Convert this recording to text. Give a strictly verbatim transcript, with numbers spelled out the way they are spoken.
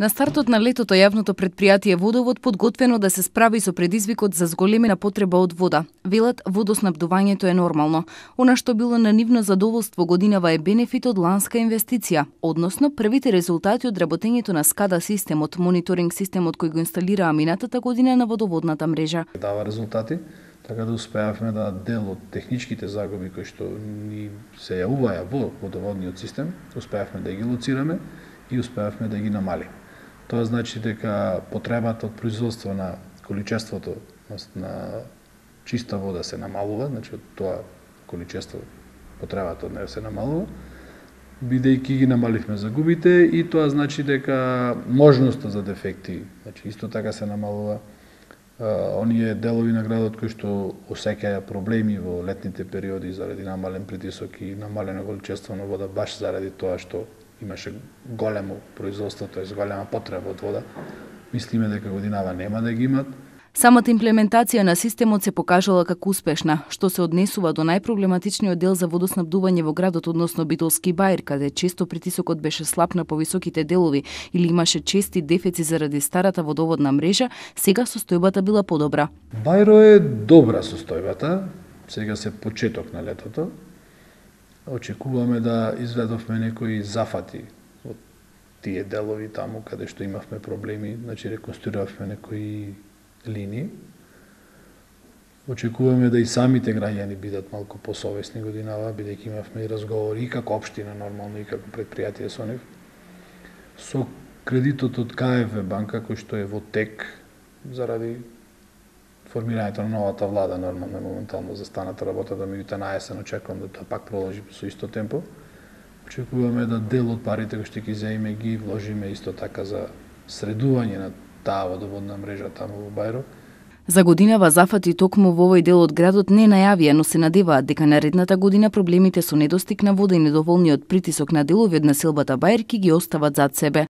На стартот на летото јавното предпријатие Водовод подготвено да се справи со предизвикот за зголемена потреба од вода. Велат, водоснабдувањето е нормално. Она што било на нивно задоволство годинава е бенефит од ланска инвестиција, односно првите резултати од работењето на скада системот, мониторинг системот кој го инсталираа минатата година на водоводната мрежа. Дава резултати, така да успеавме да дел од техничките загуби кои што ни се јавуваја во водоводниот систем, успеавме да ги лоцираме и успеавме да ги намалиме. Тоа значи дека потребата од производство на количеството на чиста вода се намалува, значи од тоа количество потребата од неја се намалува, бидејќи ги намаливме загубите и тоа значи дека можноста за дефекти, значи исто така се намалува. Оние делови на градот кои што осеќаја проблеми во летните периоди заради намален притисок и намалено количество на вода, баш заради тоа што имаше големо производство, тоа е голема потреба од вода. Мислиме дека годинава нема да ги имат. Самата имплементација на системот се покажала како успешна, што се однесува до најпроблематичниот дел за водоснабдување во градот, односно Битолски баир, каде често притисокот беше слаб на повисоките делови или имаше чести дефици заради старата водоводна мрежа, сега состојбата била подобра. Бајро е добра состојбата, сега се почеток на летото. Очекуваме да изведовме некои зафати од тие делови таму каде што имавме проблеми, значи реконструиравме некои линии. Очекуваме да и самите граѓани бидат малку посовесни годинава, бидејќи имавме и разговори и како општина нормално и како предпријатие со нив. Со кредитот од Ка Еф Ев банка кој што е во тек заради формирањето на новата влада, нормално е моментално застаната работа, да меѓутоа на есен очекувам да тоа пак продолжи со исто темпо. Очекуваме да дел од парите кои што ќе земеме ги вложиме исто така за средување на таа водоводна мрежа таму во Бајро. За годинава зафати токму во овој дел од градот не најавија, но се надеваат дека наредната година проблемите со недостиг на вода и недоволниот притисок на делови од населбата Баир ќе ги остават зад себе.